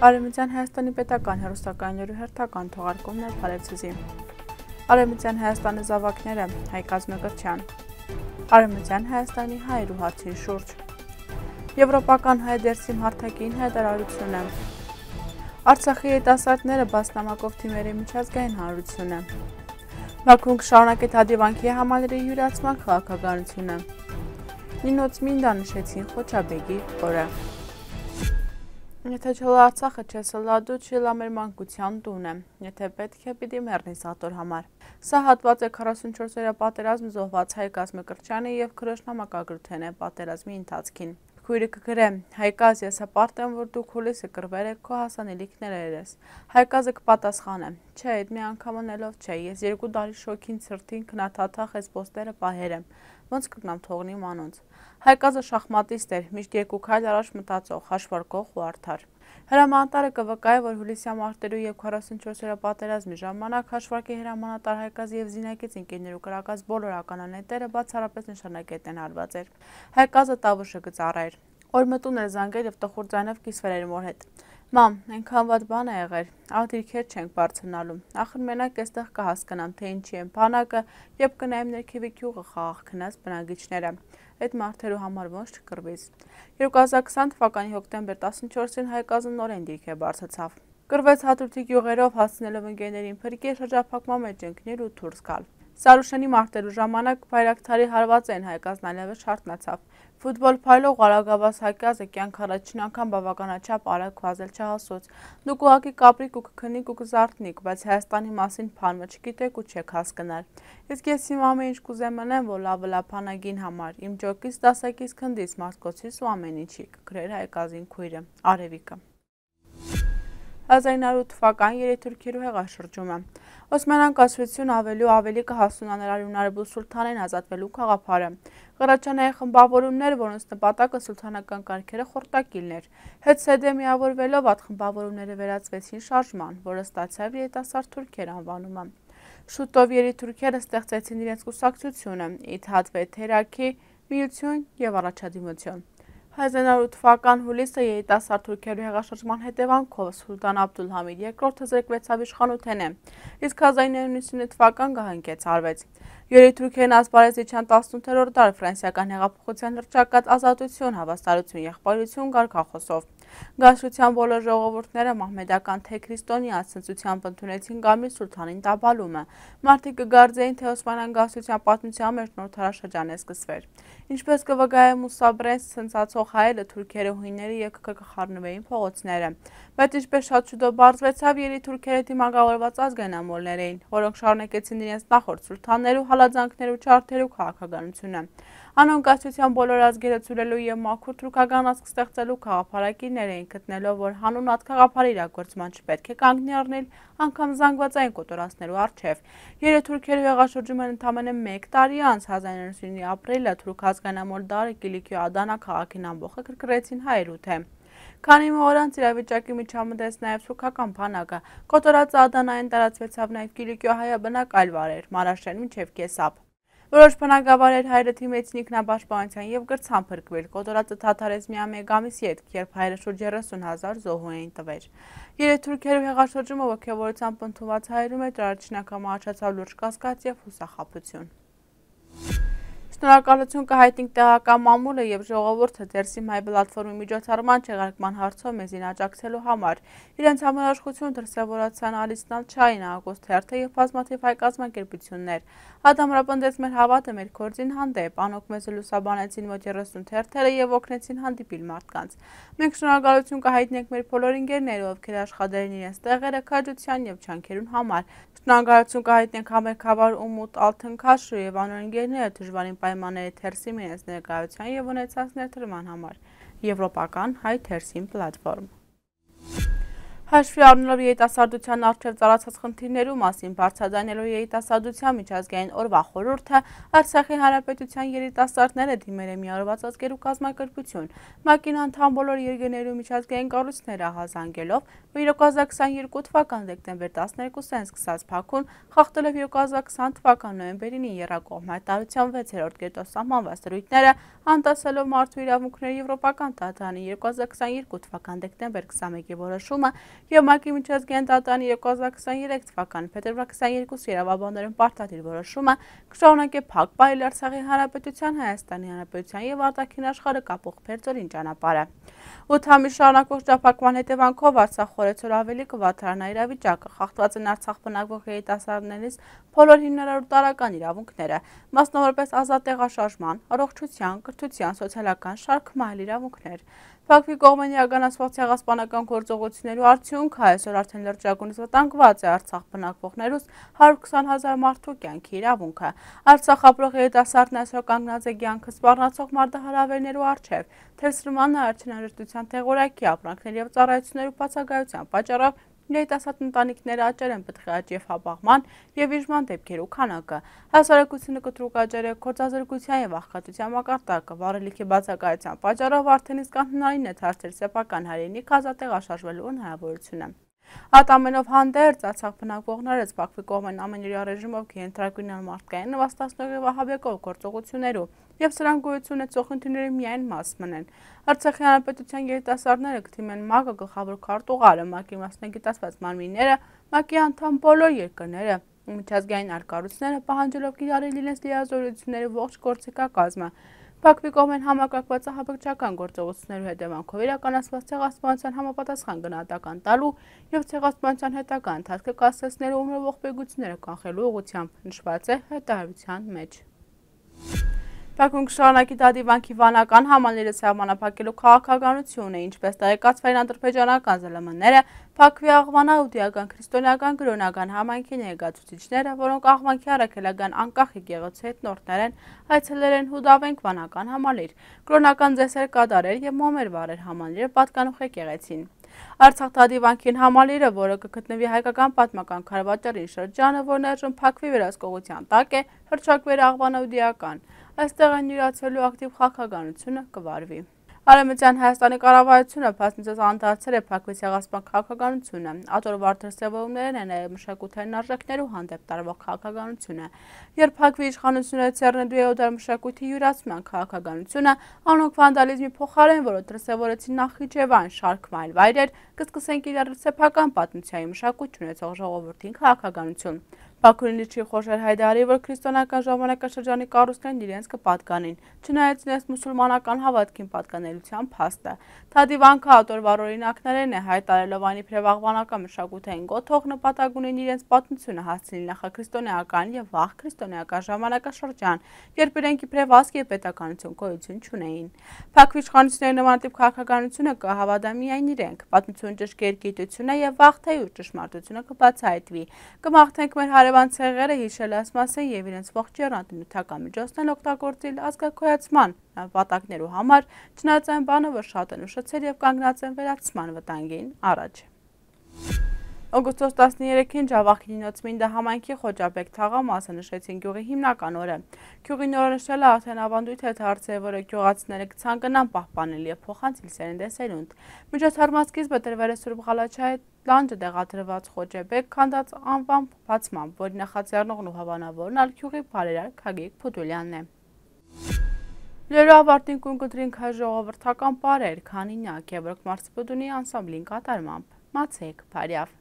Արևմտյան Հայաստանի պետական հեռուստակայաններու հերթական թողարկումն է Փարեվցուզի։ Արևմտյան Հայաստանի զավակները Հայկ Ազգմեկրտչյան։ Արևմտյան Հայաստանի հայերու հարցի շուրջ։ Եվրոպական հայ դերսիմ հարթակին հայտարարությունը։ Արցախի երիտասարդները բասնամակով թիմերի միջազգային հանրությունը։ Բաքուն կշարունակի Թադիվանքի համալիրի յուրացման քաղաքականությունը։ Նինոց Մինդա նշեցին Խոչաբեգի օրը։ Եթե չլա Արցախը չեսլադու չլա մեր մանկության տուն է, եթե պետք է պիտի մեռնի սատոր համար։ Սա հատված է 44-օրյա պատերազմ զոհված Հայկ Ազգմեկրտչյանի եւ քրոջ նամակագրութեն է պատերազմի ընթացքին։ Քույրը կգրե, Հայկազ ես հպարտ եմ, որ դու քոլիսը կրվեր եք քո հասանելիքները երես։ Հայկազը կպատասխանե, չէ, այդ մի անգամ անելով չէ, ես 2 տարի շոքին ցրտին քնաթաթախ ես պոստերը պահեր եմ, ոնց կգնամ թողնի մանոնց։ Հայկազը շախմատիստ էր, միշտ 2 քայլ առաջ մտածող, հաշվարկող ու արդար։ Հրամանատարը կվկայի, որ հուլիսյա մարտերու եւ 44-օրյա պատերազմի ժամանակ հաշվարկի հրամանատար Հայկազի եւ Զինակից ընկերներու կրակած բոլոր ականանետերը բացառապես նշանակետեն հարված էր։ Հայկազը տավուշը կծառայր։ Օրմտուն էր զանգել եւ տխուր ձայնով կիսվել էր մոր հետ։ Մամ, այնքան վատ բան է եղել, աղդիրքեր չենք բարձրնալու, ախր մենակ էստեղ կհասկանամ, թե ինչի են բանակը եւ կնայեմ ներքևի գյուղը խաղաղ քնած բնակիչները, այդ մարդերու համար ոնց չկրվից։ 2020 թվականի հոկտեմբեր 14-ին Հայկազը նորեն դիրք է բարձրացավ։ Կրվեց հատուտի գյուղերով հասցնելով ընկերներին փրկի շրջափակման մեջ ընկնել ու դուրս գալ։ Սարուշանի մարտերու ժամանակ Բայրակթարի հարվածեն Հայկազն այլևս շարտնացավ։ Ֆուտբոլ փայլող Արագավաս Հայկազը կյանք առաջին անգամ բավականաչափ արագ վազել չհասոց։ Դուք ուղղակի կապրիք ու կքնիկ ու կզարթնիք, բայց Հայաստանի մասին բանը չգիտեք ու չեք հասկանալ։ Իսկ ես իմ ամեն ինչ կուզեմ անեմ, որ լավը լափանագին համար, իմ ջոկից, դասակից, քնդից, մարտկոցից ու ամեն ինչի, կգրեր Հայկազին քույրը, Արևիկը։ 1908 թվական երեթուրքերու հեղաշրջումը։ Օսմանյան կայսրությունը ավելի կհասունա նրա հնարբուլ սուլթանեն ազատվելու գաղափարը։ Ղարաչանայի խմբավորումներ, որոնց նպատակը սուլթանական կարգերը խորտակիլն էր։ Հետ սեդե միավորվելով այդ խմբավորումները վերածվեցին շարժման, որը ստացավ երիտասարդ թուրքեր անվանումը։ Շուտով երիթուրքերը ստեղծեցին իրենց կուսակցությունը՝ Իթհադ Վեթերակի միություն եւ առաջադիմություն։ 1908 թվական հուլիսը երիտասարդ թուրքերու հեղաշրջման հետևանքով Սուլտան Աբդուլհամիդ II զրկվեցավ իշխանութենէ, իսկ 1999 թվական գահանքեց արվեց։ Երիթուրքերն ասպարեզ իջան 18-րդ դար ֆրանսիական հեղափոխության հռչակած ազատություն, հավասարություն, եղբայրություն կարգախոսով։ Գաշության բոլոր ժողովուրդները մահմեդական թե քրիստոնյա ցնծությամբ ընդունեցին Գամիլ Սուլթանին տապալումը։ Մարդիկ կգարձեին, թե Օսմանյան գաշության պատմության մեջ նոր թարաշրջան է սկսվել։ Ինչպես կվկայե Մուսա Բրենս ցնծացող հայերը թուրքերը հույները եւ կկխառնվեին փողոցները։ Բայց ինչպես շատ շուտով բարձվեցավ, երիթուրքերը դիմակայված ազգային ամոլներ էին, որոնք շարունակեցին իրենց նախորդ սուլթաններու հալածանքներու չարթերու քաղաքականությունը։ Անոնք գաշության բոլոր ազգերը ցուրելու եւ մաքուր թուրքական ազգ ստեղծելու քաղաքապարակիրներ էին, գտնելով, որ հանուն այդ քաղաքապարի իրագործման չպետք է կանգնի առնել անգամ զանգվածային կոտորածներու առջև։ Երեթուրքերու հեղաշրջումը ընդամենը 1 տարի անց 1999 ապրիլը թուրք ազգանամոլ դարը Կիլիկիո Ադանա քաղաքին ամբողջը կրկրեցին հայերու թե։ Քանի օր անց իրավիճակի միջամտեց նաև թուրքական բանակը, կոտորածը Ադանային տարածվեցավ նաև Կիլիկիո հայաբնակ այլ վարեր, Մանաշեն մինչև Կեսապ։ Որոշ բնակավայրեր հայերը թիմեցին ինքնապաշտպանության եւ գրցան փրկվել, կոտորածը թաթարեց միայն 1 ամիսի հետ, երբ հայերը շուրջ 30,000 զոհու էին տվել։ Երեթուրքերու հեղաշրջումը ոգևորությամբ ընդունված հայերու մեջ առաջին անգամ առաջացավ լուրջ կասկած եւ հուսախաբություն։ Շնորհակալություն կհայտնենք տեղական մամուլը եւ ժողովուրդը դերսիմ հայ պլատֆորմի միջոցառման չեղարկման հարցով մեզին աջակցելու համար։ Իրենց համերաշխություն դրսևորացան Ալիսնալ Չային, Ագոստ Թերթը եւ բազմաթիվ հայ կազմակերպություններ։ Ադամրապնդեց մեր հավատը մեր գործին հանդեպ, անոք մեզ լուսաբանեցին մոտ 30 թերթերը եւ օգնեցին հանդիպիլ մարդկանց։ Մենք շնորհակալություն կհայտնենք մեր բոլոր ընկերներին, ովքեր աշխատել են իրենց տեղերը քաջության եւ չանքերուն համար։ Շնորհակալություն կհայտնենք համերգավար Ումուտ Ալթնքաշու եւ անոր ընկերները դժվարին պայմանների թերսիմ իրենց ներկայության եւ ունեցած ներդրման համար։ Եվրոպական հայ թերսիմ պլատֆորմ։ Հաշվի առնելով երիտասարդության առջև ծառացած խնդիրներու մասին բարձրաձայնելով երիտասարդության միջազգային օրվա խորհուրդը Արցախի Հանրապետության երիտասարդները դիմել է միավորված ազգերու կազմակերպություն, ՄԱԿ-ին անդամ բոլոր երկրներու միջազգային կառույցները ահազանգելով, որ 2022 թվական դեկտեմբեր 12-ին սկսած փակուն խախտելով 2020 թվական նոյեմբերին եռակողմ հայտարարության 6-րդ կետով սահմանված դրույթները, անտեսելով մարդու իրավունքների եվրոպական դատարանի 2022 թվական դեկտեմբեր 21-ի որոշումը և ՄԱԿ-ի միջազգային դատարանի 2023 թվականի փետրվար 22 իրավաբաններում պարտադիր որոշումը կշարունակի փակ պահել Արցախի Հանրապետության, Հայաստանի Հանրապետության և արտաքին աշխարհը կապող փերձորին ճանապարհը։ 8 ամիս շարունակվող շրջափակման հետևանքով Արցախ խորեցօր ավելի կվատարանա իրավիճակը, խախտված են Արցախ բնակվող երիտասարդներից բոլոր հիմնարար ու տարրական իրավունքները, մասնավորապես ազատ տեղաշարժման, առողջության, կրթության, սոցիալական շարք այլ իրավունքներ։ Փակվի կողմեն իրականացված ցեղասպանական գործողություններու արդյունքը այսօր արդեն լրջագույնս վտանգված է Արցախ բնակվողներուս 120,000 մարդու կյանքի իրավունքը։ Արցախ ապրող երիտասարդն այսօր կանգնած է կյանքը սպառնացող մարտահրավերներու առջև, թերսրման արդյունավետության թեղորակի ապրանքների և ծառայություններու բացակայության պատճառով երիտասարդ ընտանիքները աճել են պտղի աճ և հապաղման և վիժման դեպքերու քանակը, հասարակությունը կտրուկ աճել է գործազրկության և աղքատության մակարդակը, վառելիքի բացակայության պատճառով արդեն իսկ անհնարին է դարձել սեփական հայրենիք ազատ տեղաշարժվելու հնարավորությունը։ Այդ ամենով հանդերձ Արցախ բնակվողներս Բաքվի կողմեն ամենօրյա ռեժիմով կենտրոնական մարդկային նվաստացնող և ահաբեկող գործողություններու և սրանք գոյություն ունեցող խնդիրների միայն մաս մնեն։ Արցախի Հանրապետության երիտասարդները կդիմեն ՄԱԿ-ը գլխավոր քարտուղարը, ՄԱԿ-ի մասնագիտացված մարմինները, ՄԱԿ-ի անդամ բոլոր երկրները, միջազգային այլ կառույցները պահանջելով կիրառել իրենց լիազորությունների ողջ գործիքակազմը։ Բաքվի կողմեն համակարգված ահաբեկչական գործողություններու հետևանքով իրականացված ցեղասպանության համապատասխան գնահատական տալու և ցեղասպանության հետագա ընթացքը կասեցնելու ու ողբերգությունները կանխելու ուղղությամբ նշված է հայտարարության մեջ։ Բաքուն կշարունակի դադիվանքի վանական համալիրը սահմանափակելու քաղաքականությունը, ինչպես տեղեկացվել են ադրբեջանական ԶԼՄ-ները, Բաքվի աղվան աուդիական քրիստոնեական կրոնական համայնքի ներկայացուցիչները, որոնք աղվանքի առաքելական անկախ եկեղեցու հետնորդներ են, այցելել են Հուդավենք վանական համալիր, կրոնական ծեսեր կատարել և մոմեր վառել համալիրը պատկանող եկեղեցին։ Արցախ դադիվանքին համալիրը, որը կգտնվի հայկական պատմական քարավաճառի շրջանը, որն այժմ Բաքվի վերահսկողության տակ է, հռչակվել է աղվան աուդիական։ Այստեղ են յուրացվելու ակտիվ քաղաքականությունը կվարվի։ Արևմտյան Հայաստանի կառավարությունը փաստացած անդրադարձել է Բաքվի ցեղասպան քաղաքականությունը, ատորվար դրսևորումներն են նաև մշակութային արժեքներու հանդեպ տարվող քաղաքականությունը։ Երբ Բաքվի իշխանությունները ցեռնելու է օդար մշակույթի յուրացման քաղաքականությունը, անոնք վանդալիզմի փոխարեն, որը դրսևորեցին Նախիջևան, շարք այլ վայրեր, կսկսեն կիրառել սեփական պատմության մշակույթ ունեցող ժողովրդին քաղաքականություն։ Բաքուն չի խոշոր հայտարարի, որ քրիստոնեական ժամանակաշրջանի կառույցներն իրենց կպատկանին, չնայած իրենց մուսուլմանական հավատքին պատկանելիության փաստը։ Դադիվանքը ատորվար օրինակներն է հայտարարելով այն իբրև աղվանական մշակութային գոթող նպատակ ունեն իրենց պատմությունը հասցնել նախաքրիստոնեական և վաղ քրիստոնեական ժամանակաշրջան, երբ իրենք իբրև ազգ և պետականություն գոյություն չունեին։ Բաքվի իշխանությունների նմանատիպ քաղաքականությունը կհավատա միայն իրենք, պատմություն ճշգրիտ գիտությունը և վաղ թե ուշ ճշմարտությունը կբացահայտվի։ Կմաղթենք մեր հարևան ցեղերը հիշել այս մասին և իրենց ողջ եռանդի միջոցներն օգտագործել ազգակոյացման նպատակներու համար, չնայած այն բանը, որ շատ են ուշացել և կանգնած են վերացման վտանգին առաջ։ Օգոստոս 13-ին Ջավախքի Նինոցմինդա համայնքի Խոջաբեկ թաղամասը նշեցին գյուղի հիմնական օրը։ Գյուղի նորոնշելը արդեն ավանդույթ է դարձել, որը գյուղացիները կցանկանան պահպանել և փոխանցել սերնդեսերունդ։ Միջոցառման սկիզբը տրվել է Սուրբ Ղալաչայի լանջը տեղադրված Խոջաբեկ քանդած անվան բացմամբ, որի նախաձեռնողն ու հավանավորն ալ գյուղի բարերար Գագիկ Փուդուլյանն է։ Լերու ավարտին կույն կդրինք հայ ժողովրդական պարեր, քանինյակ, Գևորգ Մարսպուդունի անսամբլին կատարմամբ։ Մացեք, բարյավ։